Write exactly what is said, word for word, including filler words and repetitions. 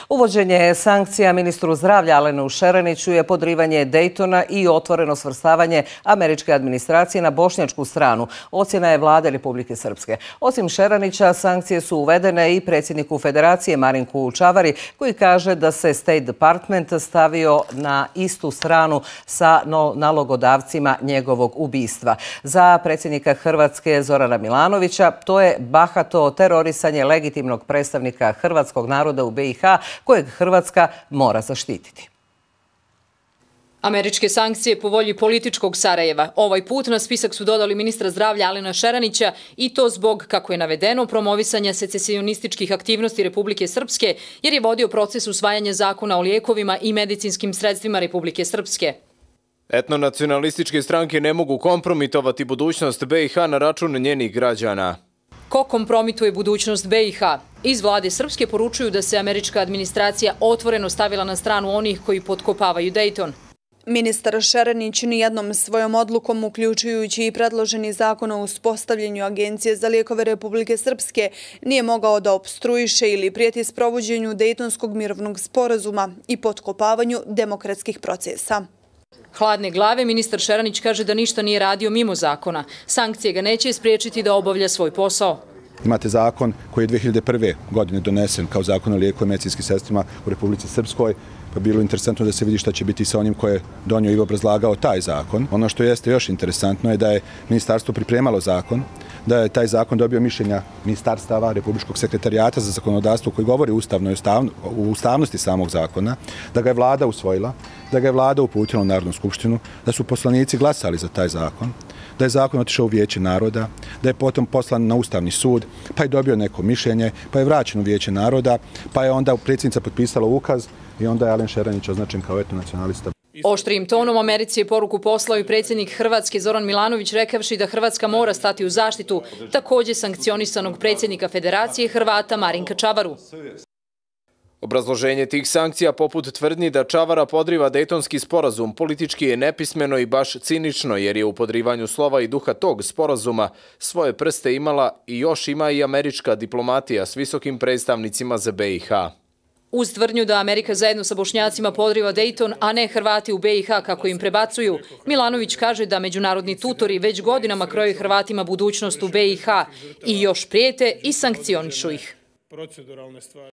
Uvođenje sankcija ministru zdravlja Alenu Šereniću je podrivanje Dejtona i otvoreno svrstavanje američke administracije na bošnjačku stranu, ocjena je vlade Republike Srpske. Osim Šerenića, sankcije su uvedene i predsjedniku Federacije Marinku Čavari, koji kaže da se State Department stavio na istu stranu sa nalogodavcima njegovog ubistva. Za predsjednika Hrvatske Zorana Milanovića to je bahato terorisanje legitimnog predstavnika hrvatskog naroda u be i ha, kojeg Hrvatska mora zaštititi. Američke sankcije po volji političkog Sarajeva. Ovaj put na spisak su dodali ministra zdravlja Alena Šerenića i to zbog, kako je navedeno, promovisanja secesionističkih aktivnosti Republike Srpske, jer je vodio proces usvajanja zakona o lijekovima i medicinskim sredstvima Republike Srpske. Etnonacionalističke stranke ne mogu kompromitovati budućnost be i ha na račun njenih građana. Ko kompromituje budućnost be i ha? Iz vlade Srpske poručuju da se američka administracija otvoreno stavila na stranu onih koji potkopavaju Dejton. Ministar Šerenić nijednom svojom odlukom, uključujući i predloženi zakon o uspostavljanju Agencije za lijekove Republike Srpske, nije mogao da opstruiše ili prijeti sprovođenju Dejtonskog mirovnog sporazuma i potkopavanju demokratskih procesa. Hladne glave, ministar Šerenić kaže da ništa nije radio mimo zakona. Sankcije ga neće spriječiti da obavlja svoj posao. Imate zakon koji je dve hiljade prve. godine donesen kao zakon o lijeku i medicinskim sredstvima u Republici Srpskoj. Pa bilo interesantno da se vidi šta će biti sa onim koje je donio i obrazlagao taj zakon. Ono što jeste još interesantno je da je ministarstvo pripremalo zakon, da je taj zakon dobio mišljenja ministarstava, Republičkog sekretarijata za zakonodavstvo koji govori o ustavnosti samog zakona, da ga je vlada usvojila, da ga je vlada uputila u Narodnu skupštinu, da su poslanici glasali za taj zakon, da je zakon otišao u Vijeće naroda, da je potom poslan na Ustavni sud, pa je dobio neko mišljenje, pa je vraćen u Vijeće naroda, pa je onda predsjednica potpisala ukaz i onda je Alen Šerenić označen kao etnonacionalista. Oštrijim tonom Americi je poruku poslao i predsjednik Hrvatske Zoran Milanović, rekavši da Hrvatska mora stati u zaštitu također sankcionisanog predsjednika Federacije Hrvata Marinka Čavaru. Obrazloženje tih sankcija poput tvrdnji da Čavara podriva Dejtonski sporazum politički je nepismeno i baš cinično, jer je u podrivanju slova i duha tog sporazuma svoje prste imala i još ima i američka diplomatija s visokim predstavnicima za be i ha. Uz tvrdnju da Amerika zajedno sa Bošnjacima podriva Dejton, a ne Hrvati u be i ha kako im prebacuju, Milanović kaže da međunarodni tutori već godinama kroje Hrvatima budućnost u be i ha i još prijete i sankcionišu ih.